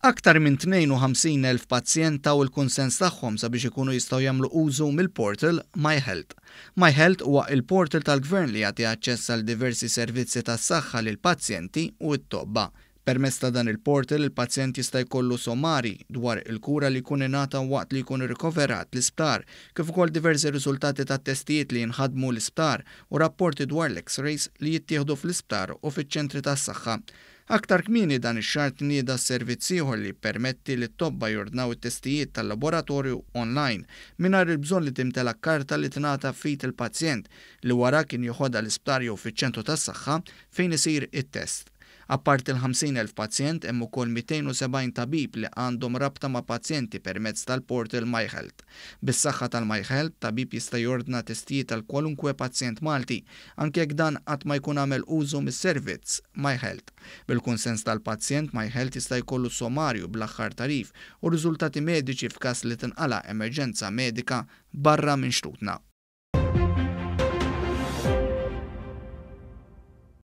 Aktar minn 52,000 pazjent taw il-kunsens tagħhom sabiex ikunu jistgħu jagħmlu użu mill-portal MyHealth. MyHealth huwa il-portal tal-Gvern li jagħti aċċess għal diversi servizzi tas-saħħa lil pazjenti u t-tobba. Permezz ta' dan il-portal, il-pazjent jista' jkollu sommari dwar il-kura li jkun ingħata waqt li jkun rikoverat l-isptar, kif ukoll diversi riżultati ta' testijiet li jinħadmu l-isptar u rapporti dwar l-X-rays li jittieħdu fl-isptar u fiċ-ċentri tas-saħħa. Aktar kmieni dan ix-xahar tnieda servizz ieħor li permetti li t-tobba jordnaw it-testijiet tal-laboratorju online mingħajr il-bżonn li timtela karta li tingħata f'id il-pazjent li wara kien joħodha l-isptar jew fiċ-ċentru tas-saħħa fejn isir it-test. Apparti l-50,000 pazjent, hemm ukoll 270 tabib li għandhom rabta ma' pazjenti permezz tal-portal MyHealth. Bis-saħħa tal-MyHealth, tabib jista' jordna testijiet għal kwalunkwe pazjent Malti, anke jekk dan qatt ma jkun għamel użu mis-servizz MyHealth. Bil-kunsens tal-pazjent, MyHealth jista' jkollu sommarju bl-aħħar tagħrif u riżultati mediċi f'każ li tinqala emerġenza medika barra minn xtutna.